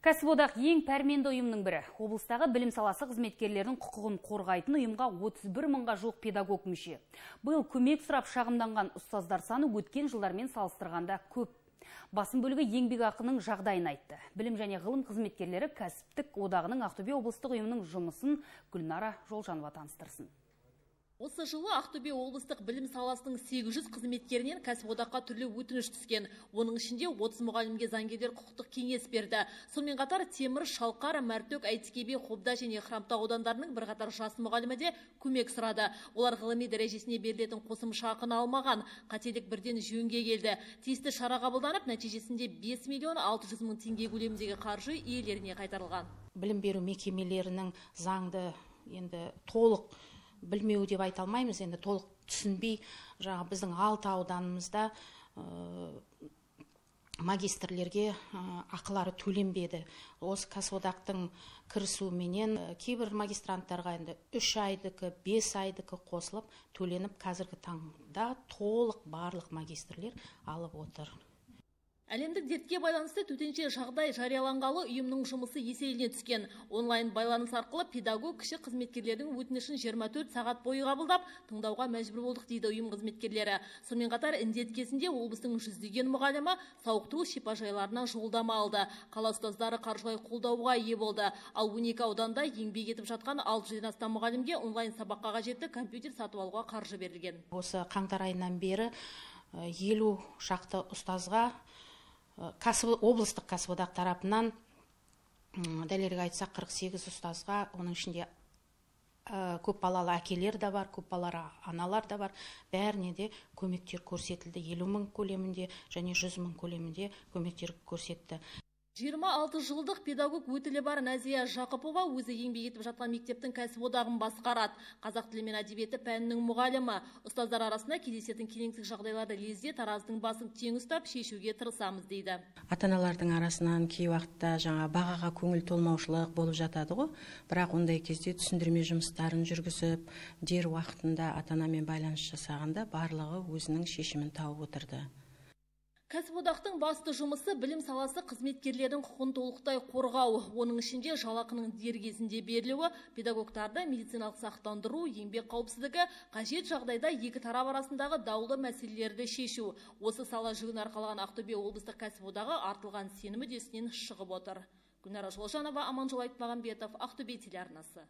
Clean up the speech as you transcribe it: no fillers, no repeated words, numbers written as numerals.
Кәсіподақ ең пәрменді ұйымның бірі. Облыстағы білім саласы қызметкерлердің құқығын қорғайтын ұйымға 31 мыңға жоқ педагог мүше. Биыл көмек сұрап шағымданған ұстаздар саны өткен жылдармен салыстырғанда көп. Басым бөлігі еңбекақының жағдайын айтты. Білім және ғылым қызметкерлері кәсіптік одағының Ақтөбе облыстық ұйымының жұмысын Гүлнара Жолжанова таныстырсын. Осы жылы Ақтөбе облыстық білім саласының 800 қызметкерінен кәсіподаққа түрлі өтініш түскен. Оның ішінде 30 мұғалімге заңгерлер құқықтық кеңес берді. Сонымен қатар Темір, Шалқар, Мәртөк, Әйтекебе, Қобда және Хромтау аудандарының бірқатар жас мұғалімі де көмек сұрады. Олар ғылыми дәрежесіне берілетін қосымша ақыны алмаған. Қателік бірден жөнге келді. Тиісті шара қабылданып, нәтижесінде 5 миллион 600 мың теңге көлеміндегі қаржы иелеріне қайтарылған. Білім беру мекемелерінің заңды енді толық білмеу деп айта алмаймыз, енді толық түсінбей, біздің 6 ауданымызда магистрлерге ақылары төленбеді. Осы кәсіподақтың кірісуіменен кейбір магистранттарға енді 3 айдыкі, 5 айдыкі қосылып төленіп, қазіргі таңда толық барлық магистрлер алып отыр. Әлемдік дертке байланысты төтенше жағдай жарияланғалы ұйымның жұмысы еселене түскен. Онлайн байланыс арқылы педагог кіші қызметкерлердің өтінішін 24 сағат бойы қабылдап, тыңдауға мәжбүр болдық дейді ұйым қызметкерлері. Сонымен қатар індет кезінде облыстың жүздеген мұғалімі сауықтыру шипажайларына жолдама алды. Қала ұстаздары қаржылай қолдауға ие болды. Ал 12 ауданда еңбек етіп жатқан 600-ден астам мұғалімге онлайн сабаққа қажетті компьютер сатып алуға қаржы берілген. Осы қаңтар айынан бері 50 шақты ұстазға облыстық кәсіподақ тарапынан, дәлірек айтсақ 48 ұстазға, оның ішінде көп балалы әкелер де бар, көп балалы аналар да бар, бәріне де көмектер көрсетілді. 50 мың көлемінде және 100 мың көлемінде көмектер көрсетті. 26 жылдық педагог өтілі бар Назия Жақыпова өзі еңбек етіп жатқан мектептің кәсіподағын басқарады. Қазақ тілі мен әдебиеті пәнінің мұғалімі. Ұстаздар арасында кездесетін келеңсіз жағдайларды лезде тараздың басын тең ұстап шешуге тырысамыз дейді. Ата-аналардың арасынан кей уақытта бағаға көңіл толмаушылық болып жатады ғой. Бірақ ондай кезде түсіндірме жұмыстарын жүргізіп, дер уақытында ата-анамен байланыс жасағанда барлығы өзінің шешімін тауып отырды. Кәсіподақтың басты жұмысы білім саласы қызметкерлердің құқын толықтай қорғау. Оның ішінде жалақының дер кезінде берілуі, педагогтарды медициналық сақтандыру, еңбек қауіпсіздігі, қажет жағдайда екі тарап арасындағы даулы мәселелерді шешу. Осы сала жүгін арқалаған Ақтөбе облыстық кәсіподағы артылған сенім үдесінен шығып отыр. Гүлнара Жолжанова, Аманжол Айтмағамбетов, Ақтөбе телеарнасы.